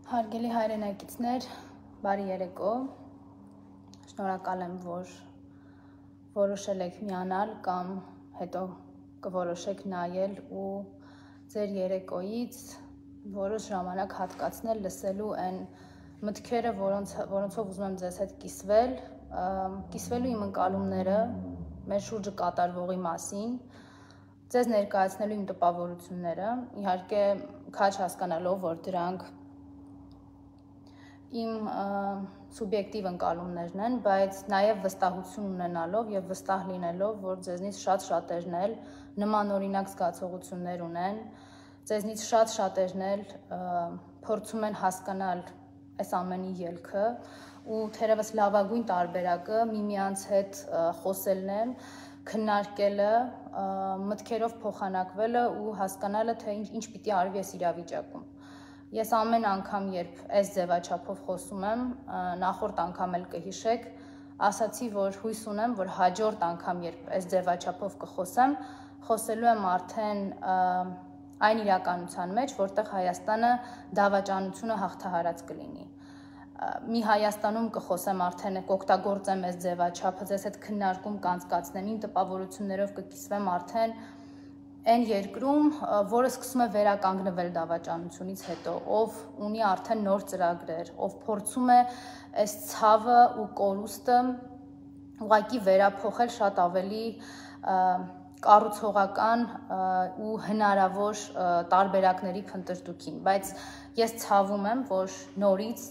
Հարգելի հայրենակիցներ, բարի երեկո, շնորհակալ եմ, որ որոշել եք միանալ կամ հետո կորոշեք նայել ու ձեր երեկոյից որոշ ժամանակ հատկացնել լսելու այն մտքերը, որոնցով ուզում եմ ձեզ հետ կիսվելու իմ ընկալումները մեր շուրջը կատարվողի մասին, ձեզ ներկայացնելու իմ տպավորությունները, իհարկե քաջ հասկանալով, որ դրանք իմ սուբյեկտիվ ընկալումներն են, բայց նաև վստահություն ունենալով և վստահ լինելով, որ ձեզնից շատ-շատերն էլ նմանօրինակ զգացողություններ ունեն, ձեզնից շատ-շատերն էլ փորձում են հասկանալ այս ամենի ելքը ու թերևս լավագույն տարբերակը միմյանց հետ խոսելն է, քննարկելը, մտքերով փոխանակվելը ու հասկանալը, թե ինչ պիտի արվի այս իրավիճակում։ Ես ամեն անգամ, երբ այս ձևաչափով խոսում եմ, նախորդ անգամ էլ կհիշեք, ասացի, որ հույս ունեմ, որ հաջորդ անգամ, երբ այս ձևաչափով կխոսեմ, խոսելու եմ արդեն այն իրականության մեջ, որտեղ Հայաստանը դավաճանությունը հաղթահարած կլինի։ Մի Հայաստանում կխոսեմ արդեն, կօգտագործեմ այս ձևաչափը, ձեզ հետ քննարկում կանցկացնեմ, իմ տպավորություններով կկիսվեմ արդեն այն երկրում, որը սկսում է վերականգնվել դավաճանությունից հետո, ով ունի արդեն նոր ծրագրեր, ով փորձում է այս ցավը ու կորուստը ուղղակի վերափոխել շատ ավելի կառուցողական ու հնարավոր տարբերակների փնտրտուքին, բայց ես ցավում եմ, որ նորից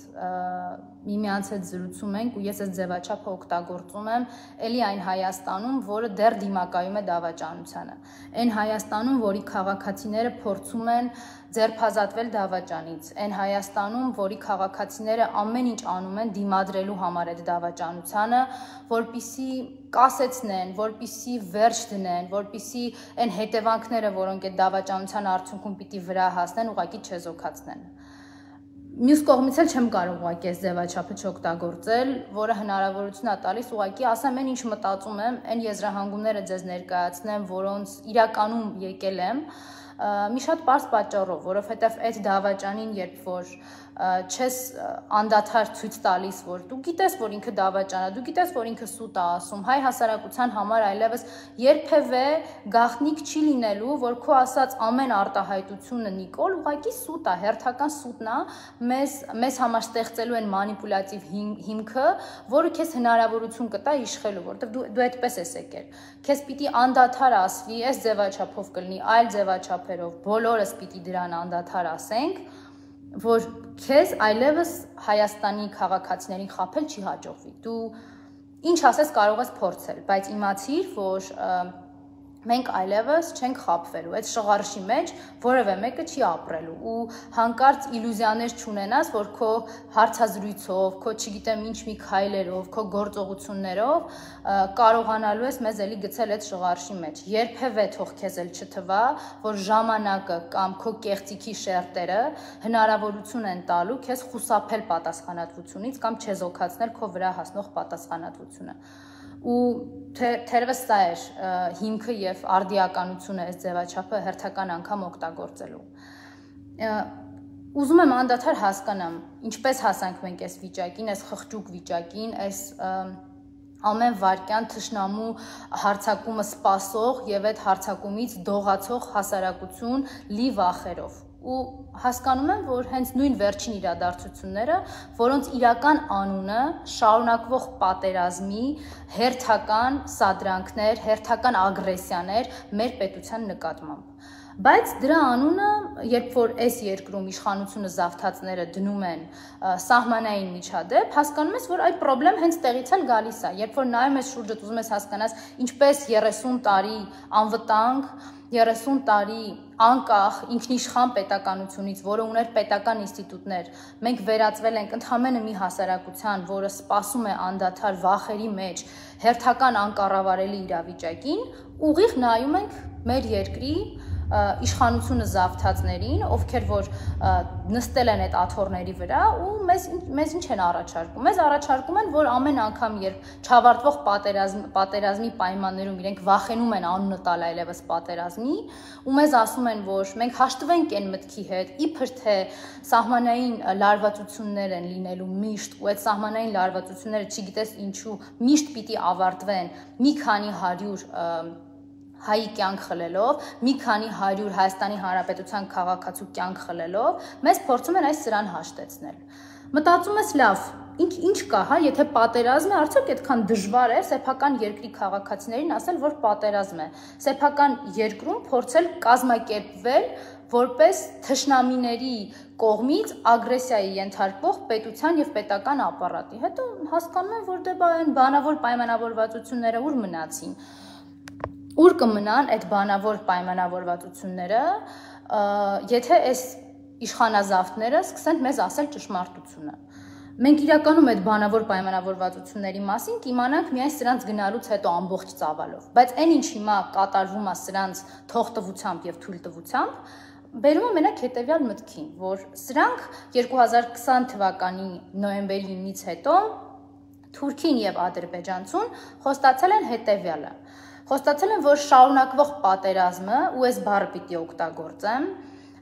միմյանց հետ զրուցում ենք ու ես այս ձևաչափը օգտագործում եմ էլի այն Հայաստանում, որը դեռ դիմակայում է դավաճանությանը, այն Հայաստանում, որի քաղաքացիները փորձում են ձերբազատվել դավաճանից, այն Հայաստանում, որի քաղաքացիները ամեն ինչ անում են դիմադրելու համար այդ դավաճանությանը, որպիսի կասեցնեն, որպիսի վերջ դնեն, որպիսի այն հետևանքները, որոնք այդ դավաճանության արդյունքում պիտի վրա հասնեն, ուղղակի չեզոքացնեն։ Մյուս կողմից էլ չեմ կարող ուղղակի այս ձևաչափը չօգտագործել, որը հնարավորություն է տալիս ուղղակի ասեմ այն ինչ մտածում եմ, այն եզրահանգումները ձեզ ներկայացնեմ, որոնց իրականում եկել եմ, մի շատ պարզ պատճառով, որովհետև այդ դավաճանին, երբ որ չես անդադար ցույց տալիս, որ դու գիտես, որ ինքը դավաճան է, դու գիտես, որ ինքը սուտ է ասում, հայ հասարակության համար այլևս երբևէ գաղտնիք չի լինելու, որ քո ասած ամեն արտահայտությունը Նիկոլ ուղղակի սուտ է, հերթական սուտն է, մեզ համար ստեղծելու են մանիպուլյատիվ հիմքը, որը քեզ հնարավորություն կտա իշխելու, որովհետև դու այդպես ես եկել։ Քեզ պիտի անդադար ասվի, այս ձևաչափով կլինի, այլ ձևաչափերով, բոլորս պիտի դրան անդադար ասենք, որ քեզ այլևս Հայաստանի քաղաքացիներին խաբել չի հաջողվի։ Դու ինչ ասես կարող ես փորձել, բայց իմացիր, որ մենք այլևս չենք խաբվելու, այդ շղարշի մեջ որևէ մեկը չի ապրելու ու հանկարծ իլյուզիաներ չունենաս, որ քո հարցազրույցով, քո չգիտեմ ինչ մի քայլերով, քո գործողություններով կարողանալու ես մեզ էլի գցել այդ շղարշի մեջ։ Երբևէ թող քեզ էլ չթվա, որ ժամանակը կամ քո կեղծիքի շերտերը հնարավորություն են տալու քեզ խուսափել պատասխանատվությունից կամ չեզոքացնել քո վրա հասնող պատասխանատվությունը։ Ու թերևս սա էր հիմքը և արդիականությունը այս ձևաչափը հերթական անգամ օգտագործելու։ Ուզում եմ անդադար հասկանամ, ինչպես հասանք մենք այս վիճակին, այս խղճուկ վիճակին, այս ամեն վայրկյան թշնամու հարձակումը սպասող և այդ հարձակումից դողացող հասարակություն լի վախերով։ Ու հասկանում եմ, որ հենց նույն վերջին իրադարձությունները, որոնց իրական անունը շարունակվող պատերազմի հերթական սադրանքներ, հերթական ագրեսիաներ մեր պետության նկատմամբ։ Բայց դրա անունը, երբ որ այս երկրում իշխանությունը զավթածները դնում են սահմանային միջադեպ, հասկանում ես, որ այդ պրոբլեմ հենց տեղից էլ գալիս է, երբ որ նայում ես շուրջդ, ուզում ես հասկանաս, ինչպես 30 տարի անվտանգ, 30 տարի անկախ ինքնիշխան պետականությունից, որը ուներ պետական ինստիտուտներ, մենք վերածվել ենք ընդհանրապես մի հասարակության, որը սպասում է անդադար վախերի մեջ, հերթական անկառավարելի իրավիճակին, ուղիղ նայում ենք մեր երկրի իշխանությունը զավթածներին, ովքեր որ նստել են այդ աթոռների վրա ու մեզ ինչ են առաջարկում։ Մեզ առաջարկում են, որ ամեն անգամ, երբ չավարտվող պատերազմի պայմաններում իրենք վախենում են անունը տալ այլևս պատերազմի, ու մեզ ասում են, որ մենք հաշտվենք այն մտքի հետ, իբր թե սահմանային լարվածություններ են լինելու միշտ, ու այդ սահմանային լարվածությունները չգիտես ինչու միշտ պիտի ավարտվեն մի քանի 100 հայի կյանք խլելով, մի քանի 100 Հայաստանի Հանրապետության քաղաքացու կյանք խլելով, մեզ փորձում են այս սրան հաշտեցնել։ Մտածում ես լավ, ինչ կա, հա, եթե պատերազմ է, արդյոք այդքան դժվար է սեփական երկրի քաղաքացիներին ասել, որ պատերազմ է։ Սեփական երկրում փորձել կազմակերպվել որպես թշնամիների կողմից ագրեսիայի ենթարկվող պետության եւ պետական ապարատի։ Հետո հասկանում են, որ դե այն բանավոր պայմանավորվածությունները ուր մնացին։ Ուր կմնան այդ բանավոր պայմանավորվածությունները, եթե այս իշխանազավթները սկսեն մեզ ասել ճշմարտությունը։ Մենք իրականում այդ բանավոր պայմանավորվածությունների մասին կիմանանք միայն սրանց գնալուց հետո ամբողջ ծավալով, բայց այն ինչ հիմա կատարվում է սրանց թողտվությամբ եւ թույլտվությամբ, բերում է մենակ հետեւյալ մտքին, որ սրանք 2020 թվականի նոյեմբերի 9-ից հետո Թուրքին եւ Ադրբեջանցուն խոստացել են հետեւյալը։ Խոստացել են, որ շարունակվող պատերազմը, ու այս բառը պիտի օգտագործեմ,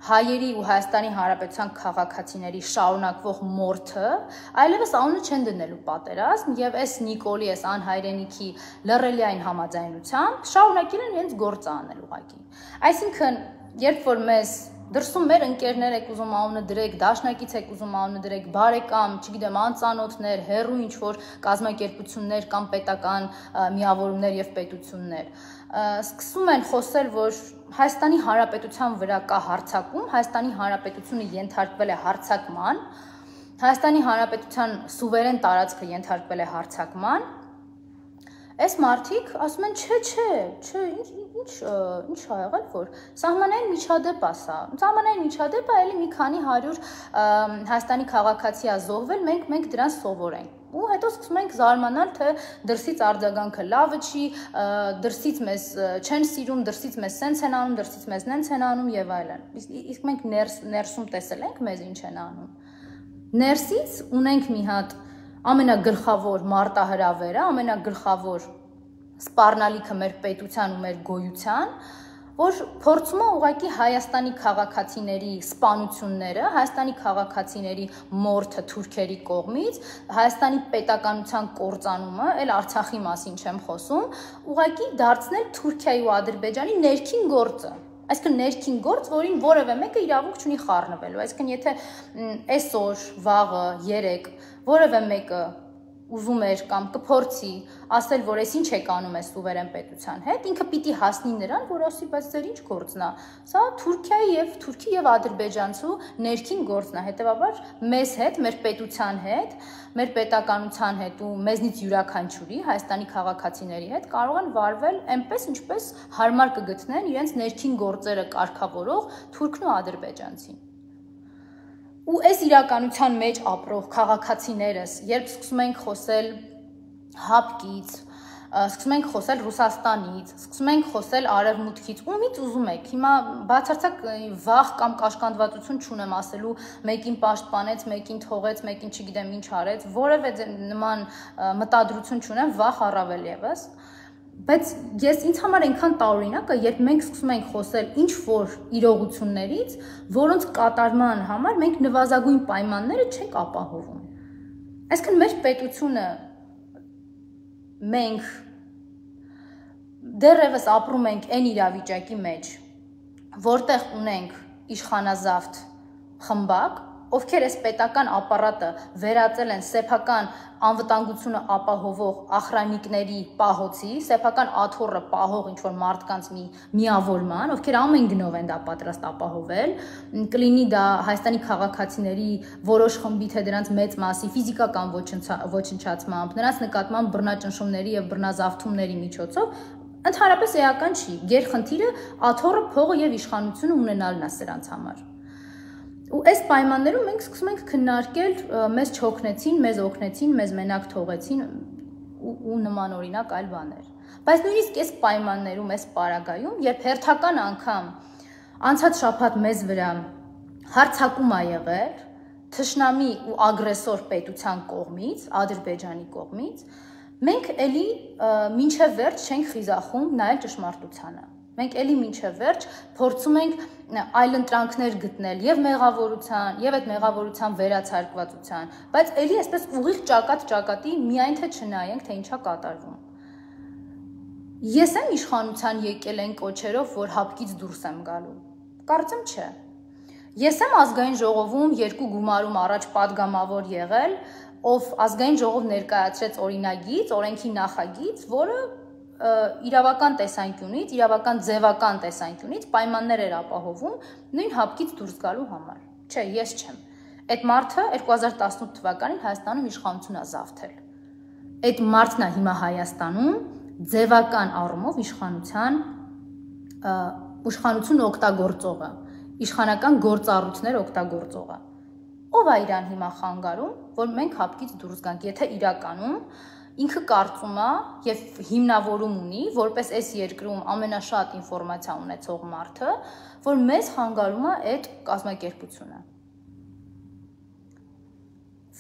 հայերի ու Հայաստանի Հանրապետության քաղաքացիների շարունակվող մորթը, այլևս անունը չեն դնելու պատերազմ եւ այս Նիկոլի, այս անհայրենիքի լռելիային համաձայնությամբ շարունակել են իրենց գործը անել ուղղակի։ Այսինքն, երբ որ մեզ դրսում մեր ընկերներ եք ուզում անունը դրեք, դաշնակից եք ուզում անունը դրեք, բարեկամ, չգիտեմ, անծանոթներ, հեռու ինչ որ կազմակերպություններ կամ պետական միավորումներ եւ պետություններ, սկսում են խոսել, որ Հայաստանի Հանրապետության վրա կա հարձակում, Հայաստանի Հանրապետությունը ենթարկվել է հարձակման, Հայաստանի Հանրապետության սուվերեն տարածքը ենթարկվել է հարձակման, այս մարդիկ ասում են, չէ, ինչ ա եղել, որ սահմանային միջադեպ է սա, սահմանային միջադեպը էլի մի քանի 100 Հայաստանի քաղաքացի է զոհվել, մենք դրան սովոր ենք։ Ու հետո սկսում ենք զարմանալ, թե դրսից արձագանքը լավը չի, դրսից մեզ չեն սիրում, դրսից մեզ սենց են անում, դրսից մեզ նենց են անում եւ այլն։ Իսկ մենք ներսում տեսել ենք մեզ ինչ են անում։ Ներսից ունենք մի հատ ամենագլխավոր մարտահրավերը, ամենագլխավոր սպառնալիքը մեր պետության ու մեր գոյության, որ փորձում է ուղղակի Հայաստանի քաղաքացիների սպանությունները, Հայաստանի քաղաքացիների մորթը թուրքերի կողմից, Հայաստանի պետականության կործանումը, այլ Արցախի մասին չեմ խոսում, ուղղակի դարձնել Թուրքիայի ու Ադրբեջանի ներքին գործը։ Այսինքն ներքին գործ, որին որևէ մեկը իրավունք չունի խառնվելու։ Այսինքն եթե այսօր, վաղը, երեկ որևէ մեկը ուզում էր կամ կփորձի ասել, որ այս ինչ եք անում այս սուվերեն պետության հետ, ինքը պիտի հասնի նրան, որ ասի, բայց ձեր ինչ գործն է։ Սա Թուրքի եւ ադրբեջանցու ներքին գործն է, հետեւաբար մեզ հետ, մեր պետության հետ, մեր պետականության հետ ու մեզնից յուրաքանչյուրի Հայաստանի քաղաքացիների հետ կարող են վարվել այնպես, ինչպես հարմար կգտնեն իրենց ներքին գործերը կարգավորող թուրքն ու ադրբեջանցին։ Ու այս իրականության մեջ ապրող քաղաքացիներս, երբ սկսում ենք խոսել հապկից, սկսում ենք խոսել Ռուսաստանից, սկսում ենք խոսել Արևմուտքից, ումից ուզում եք, հիմա բացարձակ վախ կամ կաշկանդվածություն չունեմ ասելու, մեկին պաշտպանեց, մեկին թողեց, մեկին չգիտեմ ինչ արեց, որևէ նման մտադրություն չունեմ, վախ առավել եւս, բայց ինձ համար այնքան տարօրինակ է, երբ մենք սկսում ենք խոսել ինչ որ իրողություններից, որոնց կատարման համար մենք նվազագույն պայմանները չենք ապահովում։ Այսինքն մեր պետությունը մենք դեռևս ապրում ենք այն իրավիճակի մեջ, որտեղ ունենք իշխանազավթ խմբակ, ովքեր այս պետական ապարատը վերածել են սեփական անվտանգությունը ապահովող ախրանիկների պահոցի, սեփական աթոռը պահող ինչ-որ մարդկանց մի միավորման, ովքեր ամեն գնով են դա պատրաստ ապահովել, կլինի դա Հայաստանի քաղաքացիների որոշ խմբի, թե դրանց մեծ մասի ֆիզիկական ոչնչացմամբ, նրանց նկատմամբ բռնաճնշումների եւ բռնազավթումների միջոցով, ընդհանրապես էական չի, գերխնդիրը աթոռը, փողը եւ իշխանությունը ունենալն է սրանց համար։ Ու այս պայմաններում մենք սկսում ենք քննարկել մեզ չօգնեցին, մեզ օգնեցին, մեզ մենակ թողեցին ու նման օրինակ այլ բաներ։ Բայց նույնիսկ այս պայմաններում, այս պարագայում, երբ հերթական անգամ Անցած շաբաթ մեզ վրա հարձակում ա եղել թշնամի ու ագրեսոր պետության կողմից, Ադրբեջանի կողմից, մենք էլի մինչև վերջ չենք խիզախում նայել ճշմարտությանը։ Մենք էլի մինչև վերջ փորձում ենք այլընտրանքներ գտնել եւ մեղավորության, եւ այդ մեղավորության վերացարկվածության, բայց էլի այսպես ուղիղ ճակատի միայն թե չնայենք, թե ինչա կատարվում։ Ես եմ իշխանության եկել են կոչերով, որ հապկից դուրս եմ գալու։ Կարծեմ չէ։ Ես եմ ազգային ժողովում երկու գումարում առաջ падգամավոր եղել, ով ազգային ժողով ներկայացրեց օրինագիծ, օրենքի նախագիծ, որը իրավական տեսանկյունից, իրավական ձևական տեսանկյունից պայմաններ էր ապահովում նույն հապկից դուրս գալու համար։ Չէ, ես չեմ։ Այդ մարդը 2018 թվականին Հայաստանում իշխանություն ա զավթել։ Այդ մարդն է հիմա Հայաստանում ձևական առումով իշխանություն օգտագործողը, իշխանական գործառույթներ օգտագործողը։ Ով է իրան հիմա խանգարում, որ մենք հապկից դուրս գանք, եթե իրականում ինքը կարծում է եւ հիմնավորում ունի, որպես այս երկրում ամենաշատ ինֆորմացիա ունեցող մարդը, որ մեզ խանգարում է այդ կազմակերպությունը։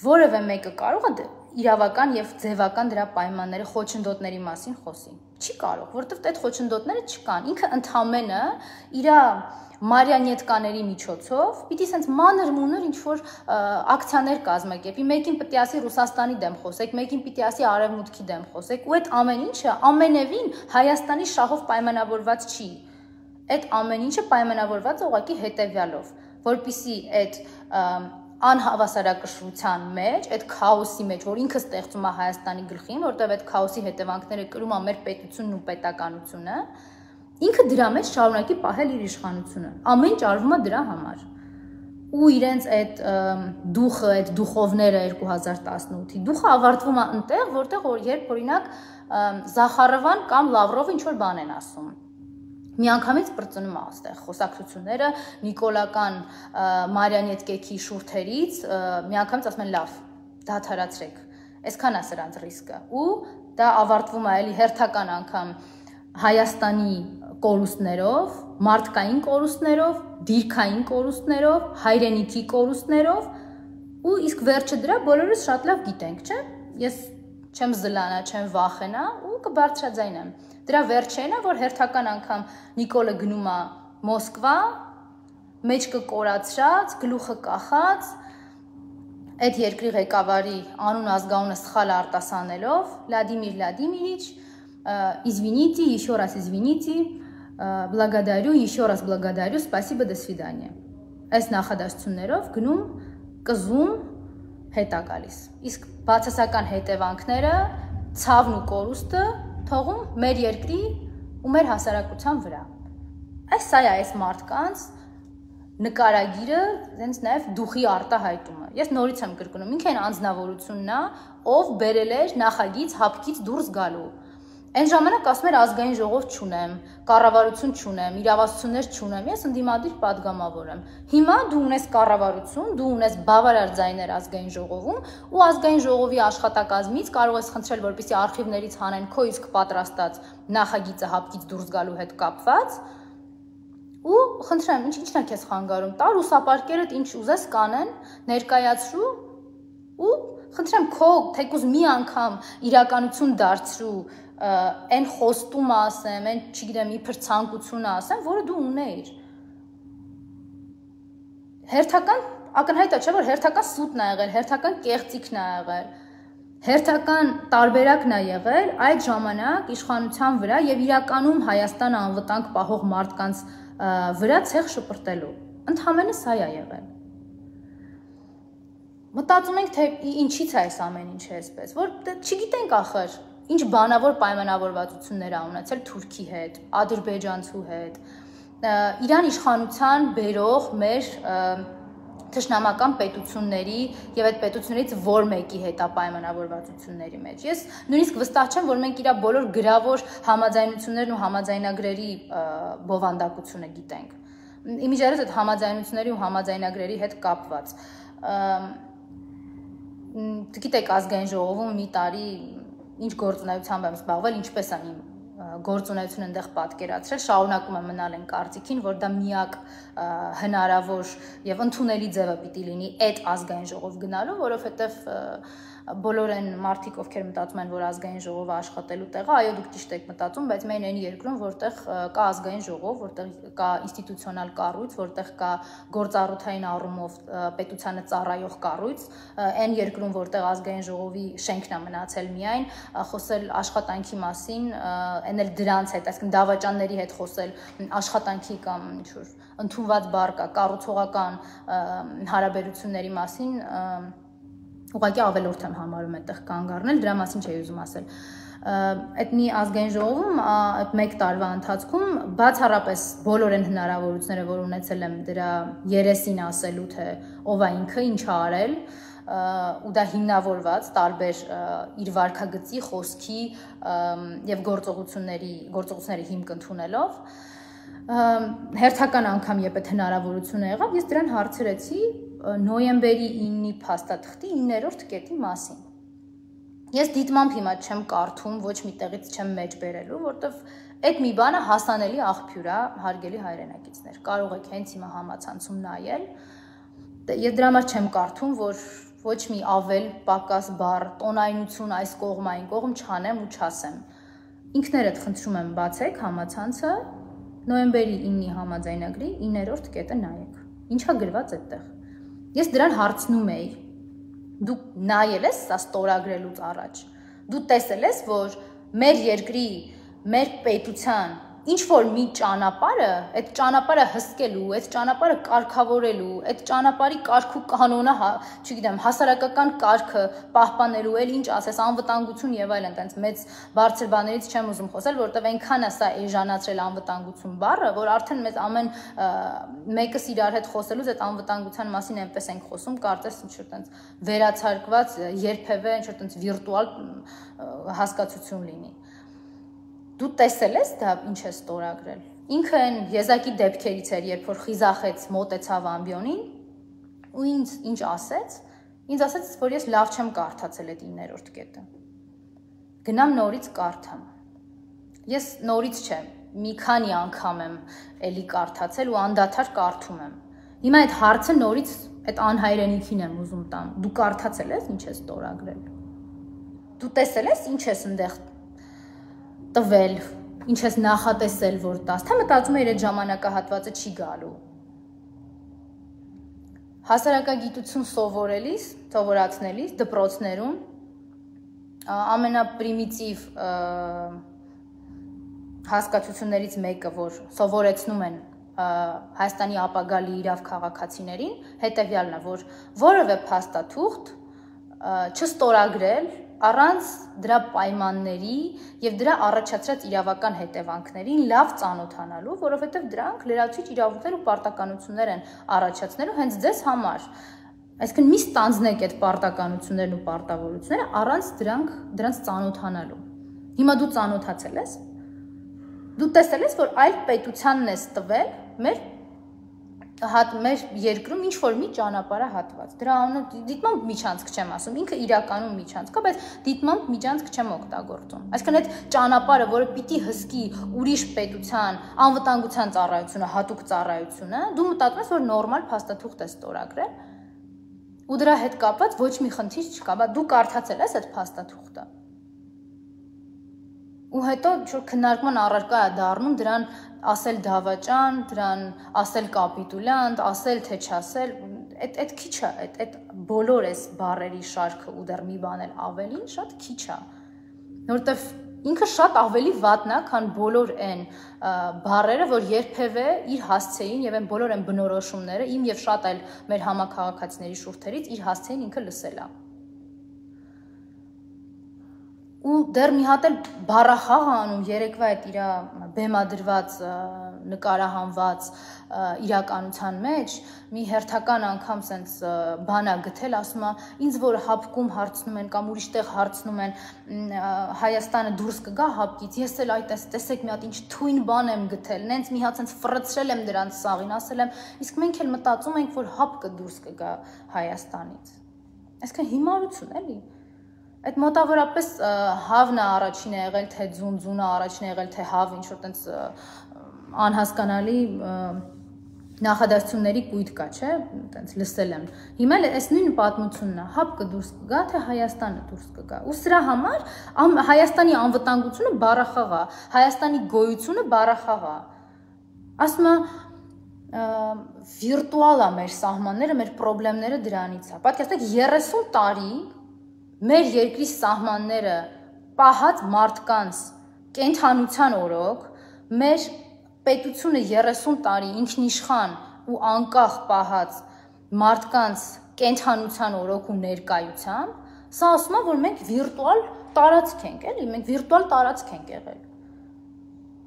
Որևէ մեկը կարող է իրավական եւ ձևական դրա պայմանները խոչընդոտների մասին խոսի։ Չի կարող, որովհետեւ այդ խոչընդոտները չկան։ Ինքը ընդամենը իր մարիոնետկաների միջոցով պիտի սենց մանր-մունր ինչ-որ ակցիաներ կազմակերպի, մեկին պիտի ասի Ռուսաստանի դեմ խոսեք, մեկին պիտի ասի Արևմուտքի դեմ խոսեք, ու այդ ամեն ինչը ամենևին Հայաստանի շահով պայմանավորված չի։ Այդ ամեն ինչը պայմանավորված է ուղղակի հետևյալով, որպեսզի այդ անհավասարակշռության մեջ, այդ քաոսի մեջ, որ ինքը ստեղծում է Հայաստանի գլխին, որտեղ այդ քաոսի հետևանքները կրում է մեր պետությունն ու պետականությունը, ինքը դրա մեջ շարունակի պահել իր իշխանությունը։ Ամեն ինչ արվում է դրա համար։ Ու իրենց այդ դուխը, այդ դուխովները 2018-ի դուխը ավարտվում է այնտեղ, որտեղ երբ օրինակ Զախարովան կամ Լավրովը ինչ-որ բան են ասում։ Միանգամից բրծնում է այստեղ խոսակցությունները նիկոլական մարիոնետկեքի շուրթերից, միանգամից ասում են լավ, դադարացրեք։ Այսքան է սրանց ռիսկը։ Ու դա ավարտվում է էլի հերթական անգամ Հայաստանի կորուստներով, մարդկային կորուստներով, դիրքային կորուստներով, հայրենիքի կորուստներով, ու իսկ վերջը դրա բոլորս շատ լավ գիտենք, չէ՞։ Ես չեմ զլանա, չեմ վախենա ու կբարձրաձայնեմ։ Դրա վերջերն է, որ հերթական անգամ Նիկոլը գնում է Մոսկվա, մեջքը կորացրած, գլուխը կախած, այդ երկրի ղեկավարի անուն ազգանունը սխալ արտասանելով, Վլադիմիր Վլադիմիրիչ, извините, еще раз извините, благодарю, еще раз благодарю, спасибо, до свидания։ Այս նախադասություններով գնում, կզում, հետ է գալիս։ Իսկ բացասական հետևանքները, ցավն ու կորուստը թողում մեր երկրի ու մեր հասարակության վրա։ Սա է այս մարդկանց նկարագիրը, հենց նաև դուխի արտահայտումը։ Ես նորից եմ կրկնում, ինքը այն անձնավորությունն է, ով բերել էր նախագիծ հապկից դուրս գալու։ Այն ժամանակ ասում էր ազգային ժողով չունեմ, կառավարություն չունեմ, իրավասություններ չունեմ, ես ընդդիմադիր падգամավոր եմ։ Հիմա դու ունես կառավարություն, դու ունես բավարար ձայներ ազգային ժողովում, ու ազգային ժողովի աշխատակազմից կարող ես խնդրել, որպեսզի արխիվներից հանեն քո իսկ պատրաստած նախագիծը հապկից դուրս գալու հետ կապված, ու խնդրեմ, ինչն է քեզ խանգարում, տա ռուսապարկերդ ինչ ուզես կանեն, ներկայացրու, ու խնդրեմ քո թեկուզ մի անգամ իրականություն դարձրու այն խոստումը ասեմ, այն, չգիտեմ, իբր ցանկությունը ասեմ, որը դու ունեիր։ Հերթական ակնհայտ է, չէ՞ որ հերթական սուտն է եղել, հերթական կեղծիքն է եղել, հերթական տարբերակն է եղել այդ ժամանակ իշխանության վրա եւ իրականում Հայաստանը անվտանգ պահող մարդկանց վրա ցեղ շպրտելու։ Ընդհանրապես սա է եղել։ Մտածում ենք, թե ինչից է այս ամեն ինչը այսպես, որ չգիտենք ախր ինչ բանավոր պայմանավորվածություններ ա ունեցել Թուրքի հետ, ադրբեջանցու հետ, Իրան իշխանության բերող մեր թշնամական պետությունների եւ այդ պետություններից որ մեկի հետ է պայմանավորվածությունների մեջ։ Ես նույնիսկ վստահ չեմ, որ մենք իր բոլոր գրավոր համաձայնություններն ու համաձայնագրերի բովանդակությունը գիտենք։ Իմիջիայլոց այդ համաձայնությունների ու համաձայնագրերի հետ կապված։ Գիտեք, ազգային ժողովում մի տարի ինչ գործունեությամբ եմ զբաղվել, ինչպես են իմ գործունեություն այնտեղ պատկերացրել, շարունակում եմ մնալ այն կարծիքին, որ դա միակ հնարավոր եւ ընդունելի ձևը պիտի լինի այդ ազգային ժողով գնալու, որովհետեւ բոլոր այն մարդիկ, ովքեր մտածում են, որ ազգային ժողովը աշխատելու տեղ է, այո, դուք ճիշտ եք մտածում, բայց մենք այն երկրում, որտեղ կա ազգային ժողով, որտեղ կա ինստիտուցիոնալ կառույց, որտեղ կա գործառութային առումով պետությանը ծառայող կառույց, այն երկրում, որտեղ ազգային ժողովի շենքն է մնացել միայն, խոսել աշխատանքի մասին, այն էլ դրանց հետ, այսինքն դավաճանների հետ խոսել աշխատանքի կամ ինչ-որ ընդունված բառ կա, կառուցողական հարաբերությունների մասին ուղղակի ավելորդ եմ համարում այդտեղ կանգ առնել, դրա մասին չէի ուզում ասել։ Այդ մի ազգային ժողովում այդ 1 տարվա ընթացքում բացառապես բոլոր այն հնարավորությունները, որ ունեցել եմ դրա երեսին ասելու, թե ով է ինքը, ինչ ա արել, ու դա հիմնավորված տարբեր իր վարքագծի, խոսքի եւ գործողությունների հիմք ընդունելով, հերթական անգամ երբ այդ հնարավորությունը եղավ, ես դրան հարցրեցի նոյեմբերի 9-ի փաստաթղթի 9-րդ կետի մասին։ Ես դիտմամբ հիմա չեմ կարդում, ոչ մի տեղից չեմ մեջ բերելու, որտեվ այդ մի բանը հասանելի աղբյուր է, հարգելի հայրենակիցներ։ Կարող եք հենց հիմա համացանցում նայել։ Ես դրա համար չեմ կարդում, որ ոչ մի ավել, պակաս բառ, տոնայնություն այս կողմ այն կողմ չանեմ ու չասեմ։ Ինքներդ խնդրում եմ բացեք համացանցը, նոյեմբերի 9-ի համաձայնագրի 9-րդ կետը նայեք։ Ինչա գրված այդտեղ։ Ես դրան հարցնում էի, դու նայել ես սա ստորագրելուց առաջ, դու տեսել ես, որ մեր երկրի, մեր պետության ինչ որ մի ճանապարհը, այդ ճանապարհը հսկելու, այդ ճանապարհը կարգավորելու, այդ ճանապարհի կարգ ու կանոնը, չգիտեմ, հասարակական կարգը պահպանելու, էլ ինչ ասես, անվտանգություն եւ այլն, այնտենց մեծ բարձր բաներից չեմ ուզում խոսել, որովհետեւ այնքան է սա էժանացրել անվտանգություն բառը, որ արդեն մեզ ամեն մեկս իրար հետ խոսելուց այդ անվտանգության մասին այնպես ենք խոսում, կարծես ինչ որ այնտենց վերացարկված, երբևէ ինչ որ այնտենց վիրտուալ հասկացություն լինի։ Դու տեսել ես դա ինչ է ստորագրել։ Ինքը այն եզակի դեպքերից էր, երբ որ խիզախեց, մոտեցավ ամբիոնին ու ինչ ասեց, ինձ ասաց, որ ես լավ չեմ կարդացել այդ 9-րդ կետը։ Գնամ նորից կարդամ։ Ես նորից չեմ, մի քանի անգամ եմ էլի կարդացել ու անդադար կարդում եմ։ Հիմա այդ հարցը նորից այդ անհայրենիքին եմ ուզում տամ։ Դու կարդացել ես ինչ է ստորագրել։ Դու տեսել ես ինչ ես այնտեղ տվել, ինչ ես նախատեսել, որ տաս, թե մտածում էր այդ ժամանակահատվածը չի գալու։ Հասարակագիտություն սովորացնելիս դպրոցներում ամենապրիմիտիվ հասկացություններից մեկը, որ սովորեցնում են Հայաստանի ապագա լիիրավ քաղաքացիներին, հետևյալն է, որ որևէ փաստաթուղթ չստորագրել առանց դրա պայմանների եւ դրա առաջացրած իրավական հետևանքներին լավ ծանոթանալու, որովհետեւ դրանք լրացուցիչ իրավունքներ ու պարտականություններ են առաջացնելու հենց ձեզ համար։ Այսինքն մի ստանձնեք այդ պարտականություններն ու պարտավորությունները առանց դրանց ծանոթանալու։ Հիմա դու ծանոթացել ես։ Դու տեսել ես, որ այլ պետությանն ես տվել մեր երկրում ինչ որ մի ճանապարհահատված։ Դրա անունը դիտմամբ միջանցք չեմ ասում, ինքը իրականում միջանցք է, բայց դիտմամբ միջանցք չեմ օգտագործում։ Այսինքն այդ ճանապարհը, որը պիտի հսկի ուրիշ պետության անվտանգության ծառայությունը, հատուկ ծառայությունը, դու մտածում ես, որ նորմալ փաստաթուղթ է ստորագրել, ու դրա հետ կապված ոչ մի խնդիր չկա, բայց դու կարդացել ես այդ փաստաթուղթը։ Ու հետո ինչ-որ քննարկման առարկա է դառնում դրան ասել դավաճան, դրան ասել կապիտուլյանտ, ասել թե չասել, այդ քիչ է, այդ բոլոր այս բառերի շարքը ու դեռ մի բան էլ ավելին շատ քիչ է։ Որովհետև ինքը շատ ավելի վատն է, քան բոլոր այն բառերը, որ երբևէ իր հասցեին եւ այն բոլոր այն բնորոշումները իմ եւ շատ այլ մեր համակարգացիների շուրթերից իր հասցեին ինքը լսել է։ Ու դեռ մի հատ էլ բառախաղ անում երեկվա այդ իր բեմադրված նկարահանված իրականության մեջ մի հերթական անգամ սենց բանա գտել, ասում է ինձ որ հապկում հարցնում են կամ ուրիշ տեղ հարցնում են Հայաստանը դուրս կգա հապկից, ես էլ այդ տեսեք մի հատ ինչ թույն բան եմ գտել, նենց մի հատ սենց ֆռցրել եմ դրանց սաղին, ասել եմ իսկ մենք էլ մտածում ենք որ հապկը դուրս կգա Հայաստանից։ Այսինքն հիմարություն էլի։ Այդ մոտավորապես հավն է առաջին եղել, թե ձունձունը առաջին եղել, թե հավը ինչ-որ տենց անհասկանալի նախադասությունների կույտ կա, չէ, տենց լսել եմ։ Հիմա այս նույն պատմությունն է, հապ կդուրս կգա, թե Հայաստանը դուրս կգա։ Ու սրա համար Հայաստանի անվտանգությունը բառախաղ է, Հայաստանի գոյությունը բառախաղ է։ Ասում եմ վիրտուալ է մեր սահմանները, մեր խնդիրները դրանից է։ Պատկերացրեք 30 տարի մեր երկրի սահմանները պահած մարդկանց կենթանության օրոք, մեր պետությունը 30 տարի ինքնիշխան ու անկախ պահած մարդկանց կենթանության օրոք ու ներկայությամբ, սա ասում է, որ մենք վիրտուալ տարածք ենք, էլի, մենք վիրտուալ տարածք ենք եղել։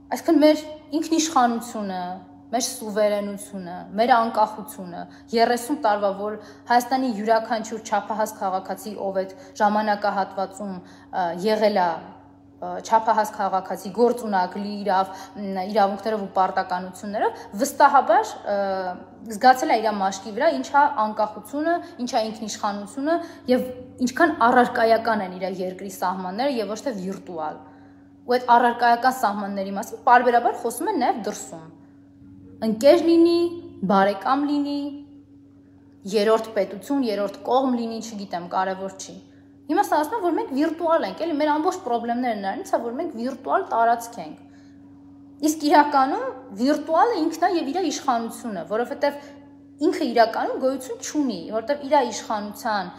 Այսինքն մեր ինքնիշխանությունը, մեր սուվերենությունը, մեր անկախությունը 30 տարվա, որ Հայաստանի յուրաքանչյուր չափահաս քաղաքացի, ով այդ ժամանակահատվածում եղել է չափահաս քաղաքացի գործունակ լի իրավունքներով ու պարտականություններով, վստահաբար զգացել է իր մաշկի վրա ինչա անկախությունը, ինչա ինքնիշխանությունը եւ ինչքան առարկայական են իր երկրի սահմանները եւ ոչ թե վիրտուալ։ Ու այդ առարկայական սահմանների մասին պարբերաբար խոսում են նաեւ դրսում։ Ընկեր լինի, բարեկամ լինի, երրորդ պետություն, երրորդ կողմ լինի, չգիտեմ, կարևոր չի։ Հիմա սա ասում եմ, որ մենք վիրտուալ ենք, էլի մեր ամբողջ խնդիրները նրանից է, որ մենք վիրտուալ տարածք ենք։ Իսկ իրականում վիրտուալը ինքն է եւ իր իշխանությունը, որովհետեւ ինքը իրականում գոյություն չունի, որովհետեւ իր իշխանության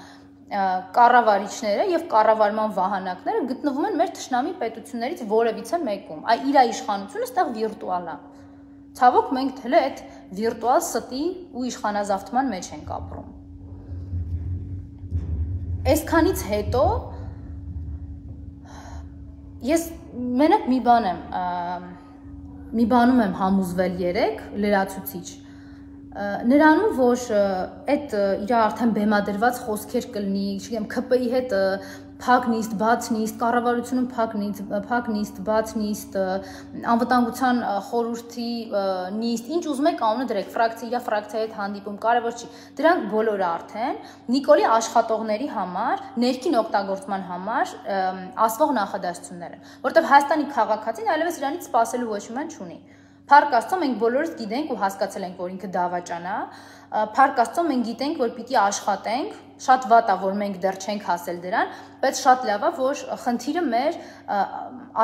կառավարիչները եւ կառավարման վահանակները գտնվում են մեր թշնամի պետություններից որևիցե մեկում։ Այ իր իշխանությունը այստեղ վիրտուալ է։ Ցավոք մենք թել է այդ վիրտուալ ստի ու իշխանազավթման մեջ ենք ապրում։ Այսքանից հետո ես մենակ մի բանում եմ համոզվել երեք լրացուցիչ նրանում, որ այդ իր արդեն բեմադրված խոսքեր կլինի, չգիտեմ, ՔՊ-ի հետ փակ նիստ, բաց նիստ, կառավարությունում փակ նիստ, բաց նիստ, անվտանգության խորհրդի նիստ, ինչ ուզում եք անունը դրեք, իր ֆրակցիայի հետ հանդիպում, կարևոր չի։ Դրանք բոլորը արդեն Նիկոլի աշխատողների համար, ներքին օգտագործման համար ասվող նախադասություններ են, որովհետև Հայաստանի քաղաքացին այլևս իրանից սպասելու ոչ մի բան չունի։ Փառք Աստծո, մենք բոլորս գիտենք ու հասկացել ենք, որ ինքը դավաճան է։ Փառք Աստծո, մենք գիտենք, որ պիտի աշխատենք, շատ վատ է, որ մենք դեռ չենք հասել դրան, բայց շատ լավ է, որ խնդիրը մեր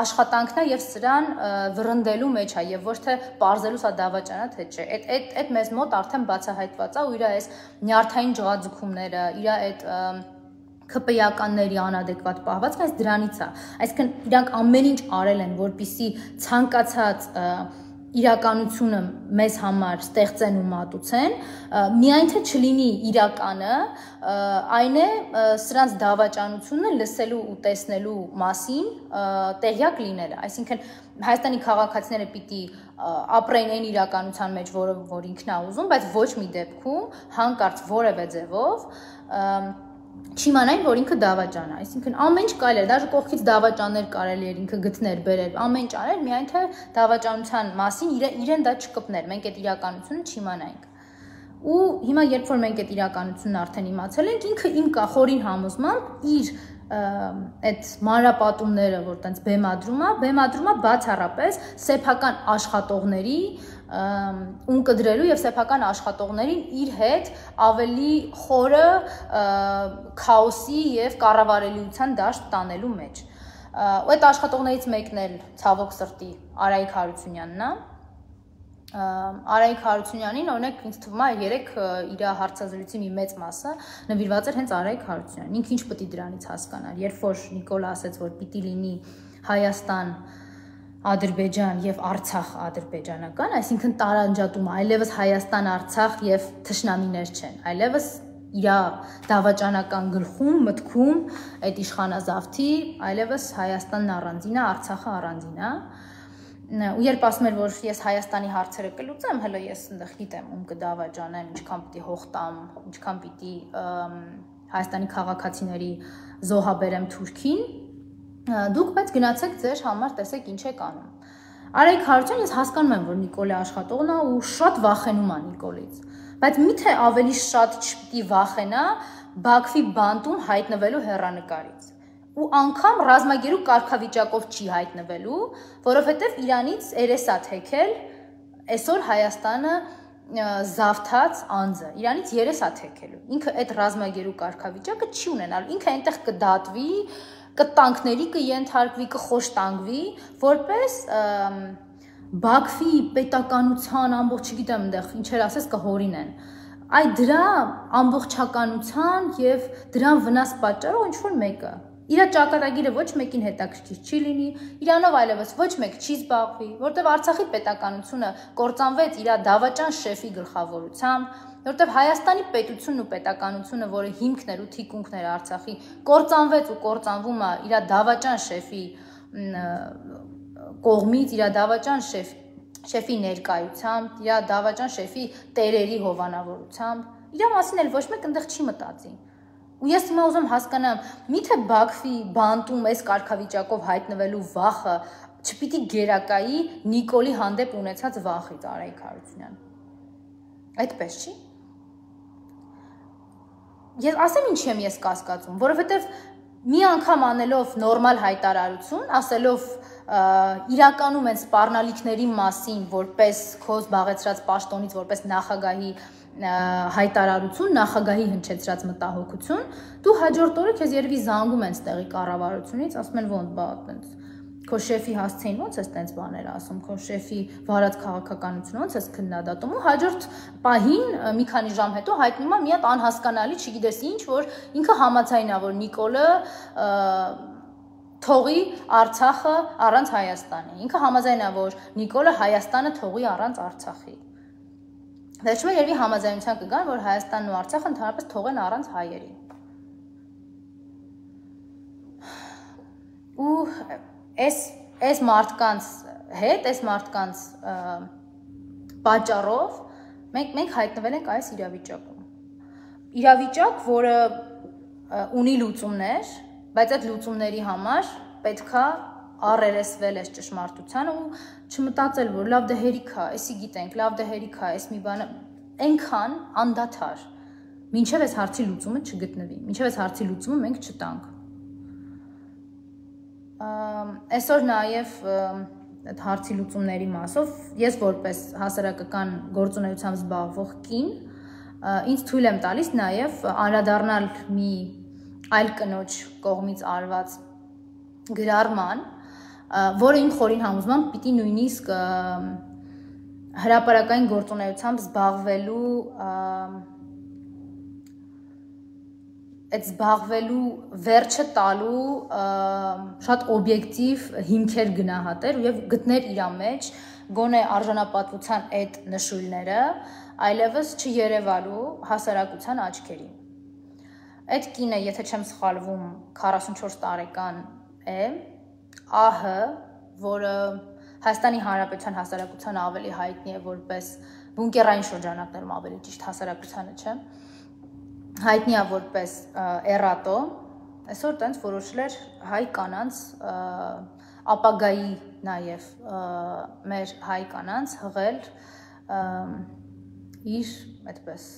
աշխատանքն է եւ սրան վռնդելու մեջ է եւ ոչ թե parzելու սա դավաճանա թե չէ։ Այդ մեզ մոտ արդեն բացահայտված է ու իր այս նյարդային ջղաձգումները, իր այդ ՔՊ-ականների անադեկվատ պահվածքը այս դրանից է։ Այսինքն իրանք ամեն ինչ արել են, որպիսի ցանկացած իրականությունը մեզ համար ստեղծեն ու մատուցեն, միայն թե չլինի իրականը, այն է սրանց դավաճանությունը լսելու ու տեսնելու մասին տեղյակ լինելը։ Այսինքն Հայաստանի քաղաքացիները պիտի ապրեն այն իրականության մեջ, որ ինքն է ուզում, բայց ոչ մի դեպքում հանկարծ որևէ ձևով չիմանային, որ ինքը դավաճան է, այսինքն ամեն ինչ կարելի է, դաժե կողքից դավաճաններ կարելի էր ինքը գտներ, բերեր, ամեն ինչ արել, միայն թե դավաճանության մասին իրեն դա չկպներ, մենք այդ իրականությունը չիմանայինք։ Ու հիմա երբ որ մենք այդ իրականությունն արդեն իմացել ենք, ինքը իմ խորին համոզմամբ իր այդ մանրապատումները, որ տենց բեմադրում է բացառապես սեփական աշխատողների ունկդրելու եւ սեփական աշխատողներին իր հետ ավելի խորը քաոսի եւ կառավարելիության դաշտ տանելու մեջ։ Ու այդ աշխատողներից մեկն էլ ցավոք սրտի Արայիկ Հարությունյանն է։ Արայիկ Հարությունյանին օրինակ ինձ թվում է երեք իր հարցազրույցի մի մեծ մասը նվիրված էր հենց Արայիկ Հարությունյանին։ Ինքը ինչ պետք է դրանից հասկանար, երբ որ Նիկոլը ասաց, որ պիտի լինի Հայաստան Ադրբեջան եւ Արցախ ադրբեջանական, այսինքն տարանջատում, այլևս Հայաստան, Արցախ եւ թշնամիներ չեն, այլևս իր դավաճանական գլխում, մտքում այդ իշխանազավթի, այլևս Հայաստանն առանձին է, Արցախը առանձին է։ Ու երբ ասում էր, որ ես Հայաստանի հարցերը կլուծեմ, հələ ես այնտեղ գիտեմ, ում կդավաճանեմ, ինչքան պիտի հող տամ, ինչքան պիտի Հայաստանի քաղաքացիների զոհաբերեմ Թուրքին, դուք բայց գնացեք ձեր համար, տեսեք ինչ եք անում։ Արայիկ Հարությունյան, ես հասկանում եմ, որ Նիկոլի աշխատողն է ու շատ վախենում է Նիկոլից, բայց միթե ավելի շատ չպիտի վախենա Բաքվի բանտում հայտնվելու հեռանկարից։ ու անգամ ռազմագերու կարգավիճակով չի հայտնվելու, որովհետև Իրանից երեսա թեքել այսօր Հայաստանը զավթած անձը, Իրանից երեսա թեքելու։ Ինքը այդ ռազմագերու կարգավիճակը չի ունենալ, ինքը այնտեղ կդատվի, կտանքների կենթարկվի, կխոշտանգվի, որպես Բաքվի պետականության ամբողջ չգիտեմ այնտեղ ինչեր ասես կհորինեն։ Այդ դրա ամբողջականության եւ դրան վնաս պատճառով ինչ որ մեկը իր ճակատագիրը ոչ մեկին հետաքրքիր չի լինի, Իրանով այլևս ոչ մեկ չի զբաղվի, որտեղ Արցախի պետականությունը կործանվեց իր դավաճան շեֆի գլխավորությամբ, որտեղ Հայաստանի պետությունն ու պետականությունը, որը հիմքն էր ու թիկունքն էր Արցախի, կործանվեց ու կործանվում է իր դավաճան շեֆի կողմից, իր դավաճան շեֆի ներկայությամբ, իր դավաճան շեֆի տերերի հովանավորությամբ, իր մասին էլ ոչ մեկ այնտեղ չի մտածի։ Ու ես հիմա ուզում հասկանամ, միթե Բաքվի բանտում այս կարգավիճակով հայտնվելու վախը չպիտի գերակայի Նիկոլի հանդեպ ունեցած վախից Արայիկ Հարությունյան։ Այդպես չի։ Ես ասեմ ինչի եմ ես կասկածում, որովհետև մի անգամ անելով նորմալ հայտարարություն, ասելով իրականում են սպառնալիքների մասին, որպես քո զբաղեցրած պաշտոնից, որպես նախագահի հայտարարություն, նախագահի հնչեցրած մտահոգություն, դու հաջորդ օրը քեզ երևի զանգում են ստեղի կառավարությունից, ասում են ոնց բա այտենց քո շեֆի հասցեին ոնց էս տենց բաներ ասում, քո շեֆի վարած քաղաքականությունը ոնց էս քննադատում ու հաջորդ պահին մի քանի ժամ հետո հայտնում է մի հատ անհասկանալի, չգիտես ինչ, որ ինքը համաձայն է, որ Նիկոլը թողի Արցախը առանց Հայաստանի։ Ինքը համաձայն է, որ Նիկոլը Հայաստանը թողի առանց Արցախի։ Վերջում երևի համաձայնության կգան, որ Հայաստանն ու Արցախը ընդհանրապես թողեն առանց հայերի։ Ու այս մարդկանց հետ, այս մարդկանց պատճառով մենք հայտնվել ենք այս իրավիճակում։ Իրավիճակ, որը ունի լուծումներ, բայց այդ լուծումների համար պետքա առերեսվել այս ճշմարտությանը ու չմտածել, որ լավ դե հերիք է, էսի գիտենք, լավ դե հերիք է, էս մի բանը այնքան անդադար, մինչև այս հարցի լուծումը չգտնվի, մինչև այս հարցի լուծումը մենք չտանք։ Այսօր նաև այդ հարցի լուծումների մասով ես որպես հասարակական գործունեությամբ զբաղվող կին ինձ թույլ եմ տալիս նաև անդրադառնալ մի այլ կնոջ կողմից արված գրառման, որը իմ խորին համոզմամբ պիտի նույնիսկ հրապարակային գործունեությամբ զբաղվելու վերջը տալու շատ օբյեկտիվ հիմքեր գնահատեր եւ գտներ իր մեջ գոնե արժանապատվության այդ նշույլները այլևս չերևալու հասարակության աչքերին։ Այդ կինը, եթե չեմ սխալվում, 44 տարեկան է, ԱՀ, որը Հայաստանի Հանրապետության հասարակության ավելի հայտնի է որպես բունկերային շրջանակներում ավելի ճիշտ հասարակությանը, չէ, հայտնի է որպես էրատո, այսօր տենց որոշել էր հայ կանանց ապագայի նաև մեր հայ կանանց հղել իր այդպես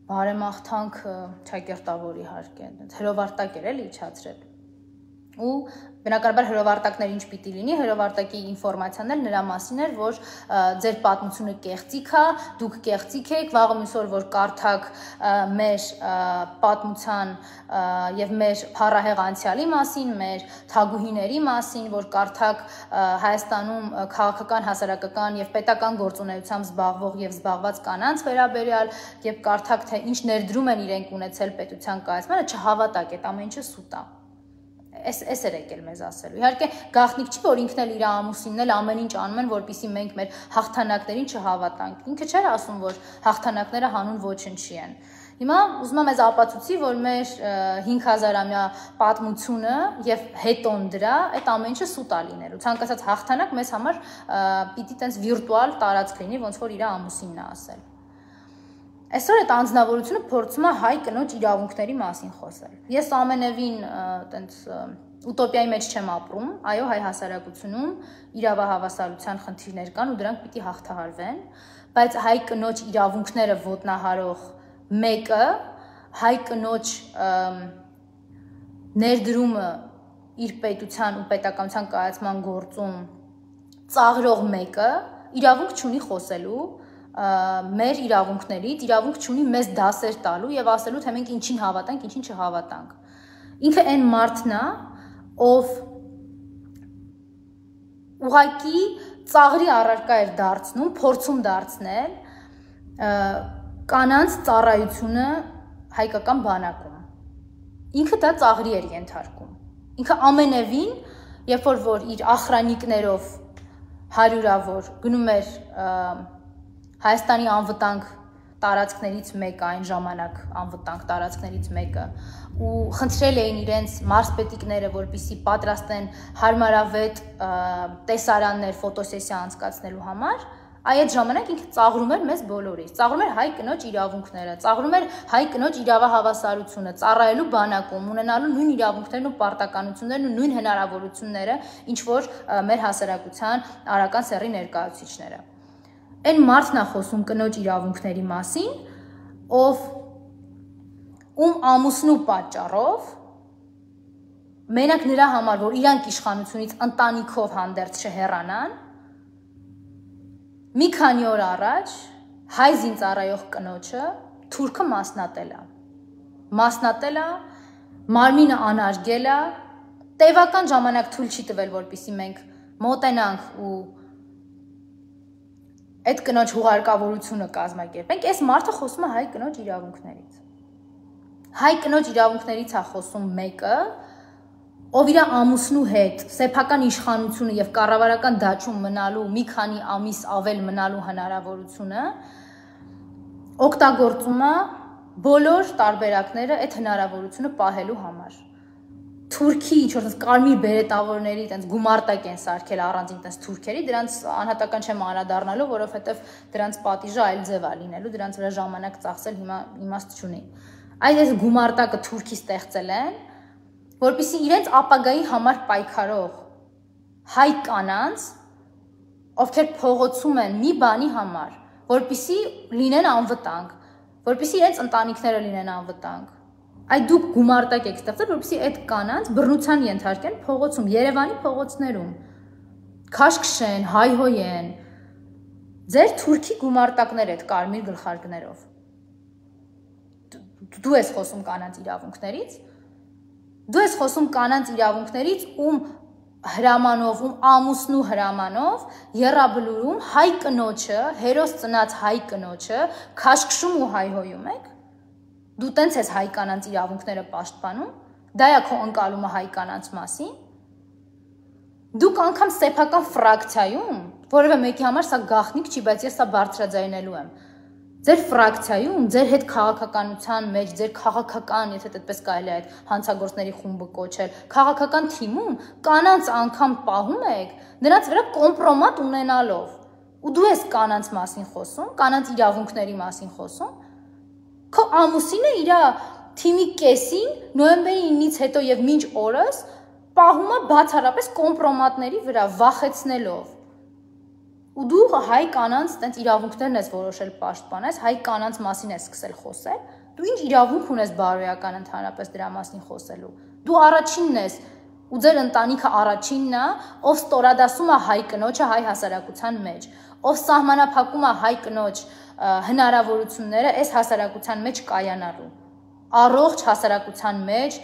բարեմաղթանք ճակերտավոր իհարկե, հրովարտակ էր էլի իջացրել։ Ու բնականաբար հրովարտակներ ինչ պիտի լինի, հրովարտակի ինֆորմացիան էլ նրա մասին էր, որ ձեր պատմությունը կեղծիք է, դուք կեղծիք եք, վաղը մյուս օր որ կարդաք մեր պատմության եւ մեր փառահեղ անցյալի մասին, մեր թագուհիների մասին, որ կարդաք Հայաստանում քաղաքական, հասարակական եւ պետական գործունեությամբ զբաղվող եւ զբաղված կանանց վերաբերյալ եւ կարդաք թե ինչ ներդրում են իրենք ունեցել պետության կայացմանը, չհավատաք, այդ ամեն ինչը սուտ է։ Էս էր եկել մեզ ասելու։ Իհարկե գաղտնիք չի, որ ինքն էլ իր ամուսինն էլ ամեն ինչ անում են, որպեսզի մենք մեր հաղթանակներին չհավատանք։ Ինքը չէր ասում, որ հաղթանակները հանուն ոչնչի են։ Հիմա ուզում եմ ես ապացուցի, որ մեր 5000-ամյա պատմությունը եւ հետոն դրա այդ ամեն ինչը սուտ է լինելու։ Ցանկացած հաղթանակ մեզ համար պիտի տենց վիրտուալ տարածք լինի, ոնց որ իր ամուսինն է ասել։ Այսօր այդ անձնավորությունը փորձում է հայ կնոջ իրավունքների մասին խոսել։ Ես ամենևին տենց ուտոպիայի մեջ չեմ ապրում, այո, հայ հասարակությունում իրավահավասարության խնդիրներ կան ու դրանք պիտի հաղթահարվեն, բայց հայ կնոջ իրավունքները ոտնահարող մեկը հայ կնոջ ներդրումը իր պետության ու պետականության կայացման գործում ծաղրող մեկը իրավունք չունի խոսելու մեր իրավունքներից, իրավունք չունի մեզ դասեր տալու եւ ասելու թե մենք ինչին հավատանք, ինչին չհավատանք։ Ինքը այն մարդն է, ով ուղղակի ծաղրի առարկա էր դարձնում, փորձում դարձնել կանանց ծառայությունը հայկական բանակում։ Ինքը դա ծաղրի էր ենթարկում։ Ինքը ամենևին, երբ որ իր ախրանիկներով հարյուրավոր գնում էր Հայաստանի անվտանգ տարածքներից մեկը, այն ժամանակ անվտանգ տարածքներից մեկը, ու խնդրել էին իրենց մարզպետիկները, որպեսզի պատրաստեն հարմարավետ տեսարաններ ֆոտոսեսիա անցկացնելու համար, այդ ժամանակ ինքը ծաղրում էր մեզ բոլորից, ծաղրում էր հայ կնոջ իրավունքները, ծաղրում էր հայ կնոջ իրավահավասարությունը, ծառայելու բանակում, ունենալու նույն իրավունքներն ու պարտականություններն ու նույն հնարավորությունները, ինչ որ մեր հասարակության արական սեռի ներկայացուցիչները։ Այն մարդն է խոսում կնոջ իրավունքների մասին, ում ամուսնու պատճառով մենակ նրա համար, որ իրանք իշխանությունից ընտանիքով հանդերձ չհեռանան, մի քանի օր առաջ հայ զինծառայող կնոջը թուրքը մասնատել է, մարմինը անարգել է, տևական ժամանակ թույլ չի տվել, որպեսզի մենք մոտենանք ու այդ կնոջ հուղարկավորությունը կազմակերպենք, այս մարդը խոսում է հայ կնոջ իրավունքներից։ Հայ կնոջ իրավունքներից է խոսում մեկը, ով իր ամուսնու հետ սեփական իշխանությունը եւ կառավարական դաշտում մնալու մի քանի ամիս ավել մնալու հնարավորությունը օգտագործում է բոլոր տարբերակները այդ հնարավորությունը պահելու համար։ Թուրքի ինչ-որ կարմիր բերետավորների այդպես գումարտակ են սարքել առանձին այդպես թուրքերի, դրանց անհատական չեմ անդրադառնալու, որովհետև դրանց պատիժը այլ ձև է լինելու, դրանց վրա ժամանակ ծախսել հիմա իմաստ չունի։ Այս գումարտակը թուրքի ստեղծել են, որպեսզի իրենց ապագայի համար պայքարող հայ կանանց, ովքեր փողոցում են մի բանի համար, որպեսզի լինեն անվտանգ, որպեսզի իրենց ընտանիքները լինեն անվտանգ։ Այդ դուք գումարտակ եք ստեղծել, որպեսզի այդ կանանց բռնության ենթարկեն փողոցում, Երևանի փողոցներում, քաշքշեն, հայհոյեն, ձեր թուրքի գումարտակներ այդ կարմիր գլխարկներով։ Դու ես խոսում կանանց իրավունքներից, դու ես խոսում կանանց իրավունքներից, ում հրամանով, ում ամուսնու հրամանով եռաբլուրում հայ կնոջը, հերոս ծնած հայ կնոջը քաշքշում ու հայհոյում եք։ Դու տենց ես հայ կանանց իրավունքները պաշտպանում, դա է քո ընկալումը հայ կանանց մասին։ Դուք անգամ սեփական ֆրակցիայում, որևէ մեկի համար սա գաղտնիք չի, բայց ես սա բարձրաձայնելու եմ։ Ձեր ֆրակցիայում, ձեր հետ քաղաքականության մեջ, ձեր քաղաքական, եթե այդպես կարելի է այդ հանցագործների խումբը կոչել, քաղաքական թիմում կանանց անգամ պահում եք, նրանց վրա կոմպրոմատ ունենալով։ Ու դու ես կանանց մասին խոսում, կանանց իրավունքների մասին խոսում։ Քո ամուսինը իր թիմի կեսին նոյեմբերի 9-ից հետո եւ մինչ օրս պահում է բացառապես կոմպրոմատների վրա վախեցնելով։ Ու դու հայ կանանց տենց իրավունքներն ես որոշել պաշտպանես, հայ կանանց մասին ես սկսել խոսել, դու ինչ իրավունք ունես բարոյական ընդհանրապես դրա մասին խոսելու։ Դու առաջինն ես, ու ձեր ընտանիքը առաջինն է, ով ստորադասում է հայ կնոջը հայ հասարակության մեջ, ով սահմանափակում է հայ կնոջ հնարավորությունները այս հասարակության մեջ կայանալու, առողջ հասարակության մեջ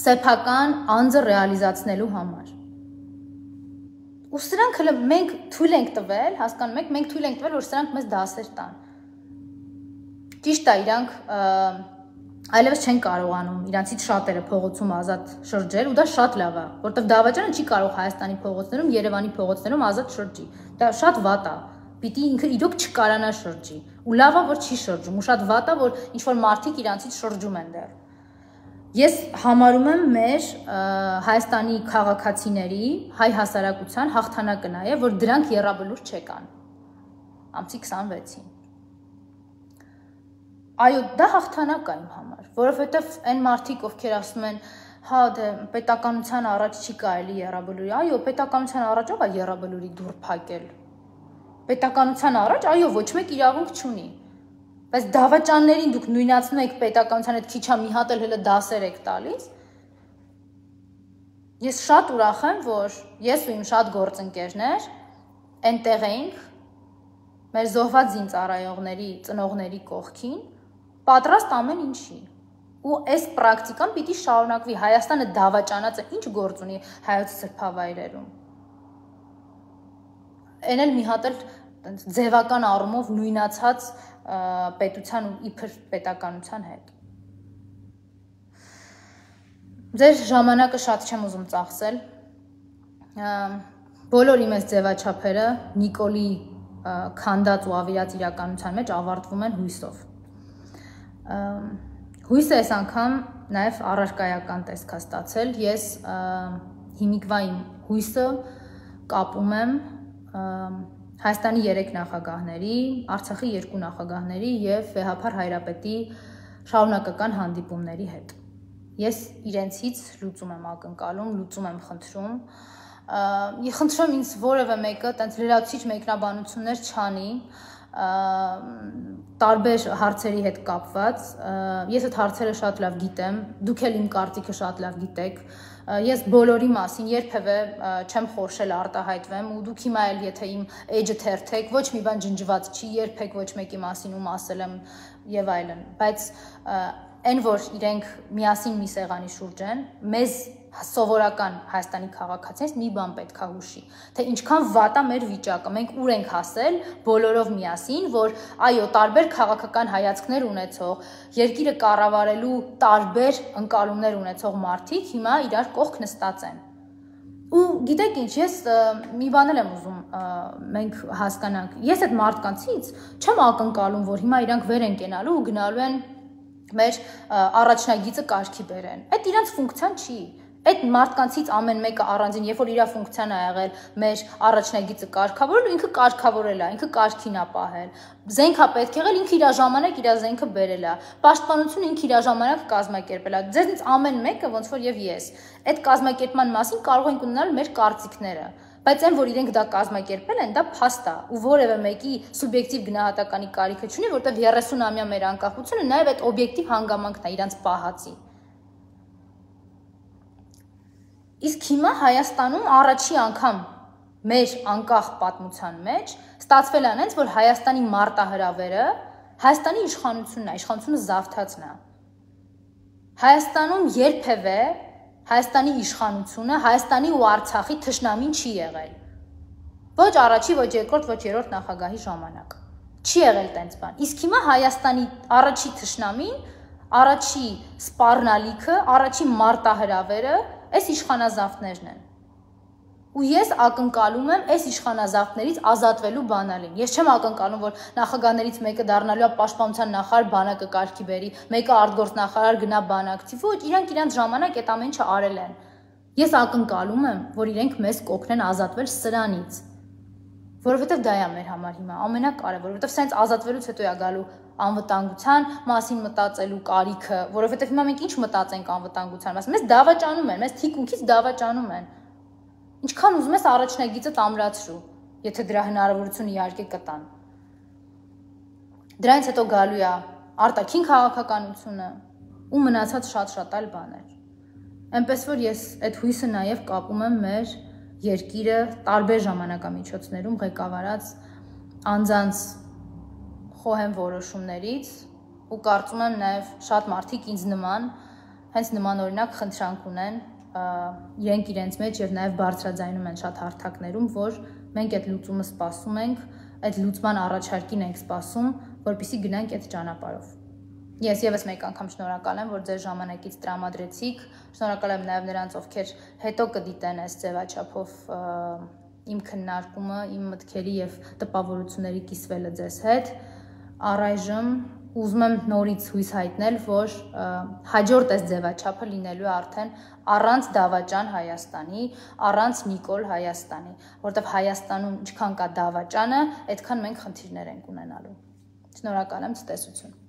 սեփական անձը ռեալիզացնելու համար։ Ու սրանք հələ մենք թույլ ենք տվել, հասկանում եք, մենք թույլ ենք տվել, որ սրանք մեզ դասեր տան։ Ճիշտ է, իրանք այլևս չեն կարողանում իրանցից շատերը փողոցում ազատ շրջել, ու դա շատ լավ է, որովհետև դավաճանը չի կարող Հայաստանի փողոցներում, Երևանի փողոցներում ազատ շրջի։ Դա շատ վատ է։ Պիտի ինքը իրոք չկարանա շրջի։ Ու լավ է, որ չի շրջում, ու շատ վատ է, որ ինչ որ մարդիկ իրանցից շրջում են դեռ։ Ես համարում եմ մեր Հայաստանի քաղաքացիների, հայ հասարակության հաղթանակը նաև, որ դրանք եռաբլուր չեկան ամսի 26-ին։ Այո, դա հաղթանակ է իմ համար, որովհետև այն մարդիկ, ովքեր ասում են, հա, դե պետականության առաջ չի կարելի եռաբլուրի, այո, պետականության առաջ ով է եռաբլուրի դուռ փակել։ Պետականության առաջ, այո, ոչ մեկ իրավունք չունի։ բայց դավաճաններին դուք նույնացնում եք պետականության հետ քիչ մի հատ էլ հələ դասեր եք տալիս։ Ես շատ ուրախ եմ, որ ես ու իմ շատ գործընկերներ այնտեղ էինք մեր զոհված զինծառայողների ծնողների կողքին, պատրաստ ամեն ինչի։ Ու այս պրակտիկան պիտի շարունակվի։ Հայաստանը դավաճանած է, ինչ գործ ունի հայոց սրբավայրերում։ Այն էլ մի հատ էլ ձևական առումով նույնացած պետության ու իբր պետականության հետ։ Ձեր ժամանակը շատ չեմ ուզում ծախսել։ Բոլոր իմ այս ձևաչափերը Նիկոլի քանդած ու ավիրած իրականության մեջ ավարտվում են հույսով։ Հույսը այս անգամ նաև առարկայական տեսք է ստացել։ Ես հիմիկվա իմ հույսը կապում եմ Հայաստանի 3 նախագահների, Արցախի 2 նախագահների եւ վեհափառ հայրապետի շարունակական հանդիպումների հետ։ Ես իրենցից լուծում եմ ակնկալում, լուծում եմ խնդրում։ Ես խնդրում ինձ որևէ մեկը տենց լրացուցիչ մեկնաբանություններ չանի տարբեր հարցերի հետ կապված։ Ես այդ հարցերը շատ լավ գիտեմ, դուք էլ իմ կարծիքը շատ լավ գիտեք։ Ես բոլորի մասին երբևէ չեմ խորշել արտահայտվեմ ու դուք հիմա էլ եթե իմ էջը թերթեք, ոչ մի բան ջնջված չի, երբեք ոչ մեկի մասին ում ասել եմ եւ այլն, բայց այն որ իրենք միասին մի սեղանի շուրջ են, մեզ սովորական Հայաստանի քաղաքացիներից մի բան պետք է հուշի, թե ինչքան վատ է մեր վիճակը, մենք ուր ենք հասել բոլորով միասին, որ այո, տարբեր քաղաքական հայացքներ ունեցող, երկիրը կառավարելու տարբեր ընկալումներ ունեցող մարդիկ հիմա իրար կողք նստած են։ Ու գիտեք ինչ, ես մի բան եմ ուզում մենք հասկանանք, ես այդ մարդկանցից չեմ ակնկալում, որ հիմա իրանք վեր են կենալու ու գնալու են մեր առաջնագիծը կարգի բերեն։ Այդ իրանց ֆունկցիան չի։ Այդ մարդկանցից ամեն մեկը առանձին, երբ որ իր ֆունկցիան է եղել մեր առաջնագիծը կարգավորել, ինքը կարգավորել է, ինքը կարգին է պահել։ Զենք է պետք եղել, ինքը իր ժամանակ իր զենքը բերել է։ Պաշտպանությունը ինքը իր ժամանակ կազմակերպել է։ Ձեզնից ամեն մեկը ոնց որ եւ ես այդ կազմակերպման մասին կարող ենք ունենալ մեր կարծիքները։ Բայց այն որ իրենք դա կազմակերպել են, դա փաստ է ու որևէ մեկի սուբյեկտիվ գնահատականի կարիքը չունի, որտեղ 30-ամյա մեր անկախությունը նաև այդ օբյեկտիվ հանգամանքն է իրանց պահածի։ Իսկ հիմա Հայաստանում առաջի անգամ մեր անկախ պատմության մեջ ստացվել է այնց, որ Հայաստանի մարտահրավերը Հայաստանի իշխանությունն է, իշխանությունը զավթացն է։ Հայաստանում երբևէ Հայաստանի իշխանությունը Հայաստանի ու Արցախի թշնամին չի եղել։ Ոչ առաջի, ոչ երկրորդ, ոչ երրորդ նախագահի ժամանակ։ Չի եղել տենց բան։ Իսկ հիմա Հայաստանի առաջի թշնամին, առաջի սպառնալիքը, առաջի մարտահրավերը այս իշխանազավթներն են։ Ու ես ակնկալում եմ այս իշխանազավթներից ազատվելու բանալին։ Ես չեմ ակնկալում, որ նախագահներից մեկը դառնալու է պաշտպանության նախարար բանակը կարգի բերի, մեկը արտգործնախարար գնա բանակցի։ Ոչ, իրանք իրանց ժամանակ այդ ամեն ինչը արել են։ Ես ակնկալում եմ, որ իրենք մեզ կօգնեն ազատվել սրանից։ Որովհետև դա է մեր համար հիմա ամենակարևորը, որովհետև սենց ազատվելուց հետո է գալու անվտանգության մասին մտածելու կարիքը, որովհետև հիմա մենք ինչ մտածենք անվտանգության մասին։ Մեզ դավաճանում են, մեզ թիկունքից դավաճանում են։ Ինչքան ուզում ես առաջնագիծը ամրացրու, եթե դրա հնարավորությունը իհարկե կտան։ Դրանից հետո գալու է արտաքին քաղաքականությունը ու մնացած շատ այլ բաներ։ Այնպես որ ես այդ հույսը նաև կապում եմ մեր երկիրը տարբեր ժամանակամիջոցներում ղեկավարած անձանց խոհեմ որոշումներից ու կարծում եմ նաև շատ մարդիկ ինձ նման հենց նման օրինակ խնդրանք ունեն իրենք իրենց մեջ եւ նաև բարձրաձայնում են շատ հարթակներում, որ մենք այդ լուծումը սպասում ենք, այդ լուծման առաջարկին ենք սպասում, որպեսզի գնանք այդ ճանապարհով։ Ես եւս մեկ անգամ շնորհակալ եմ, որ ձեր ժամանակից տրամադրեցիք, շնորհակալ եմ նաև նրանց, ովքեր հետո կդիտեն այս ձևաչափով իմ քննարկումը, իմ մտքերի եւ տպավորությունների կիսվելը ձեզ հետ։ Առայժմ ուզում եմ նորից հույս հայտնել, որ հաջորդ այս ձևաչափը լինելու է արդեն առանց դավաճան Հայաստանի, առանց Նիկոլ Հայաստանի, որովհետև Հայաստանում ինչքան կա դավաճանը, այդքան մենք խնդիրներ ենք ունենալու։ Շնորհակալ եմ, ցտեսություն։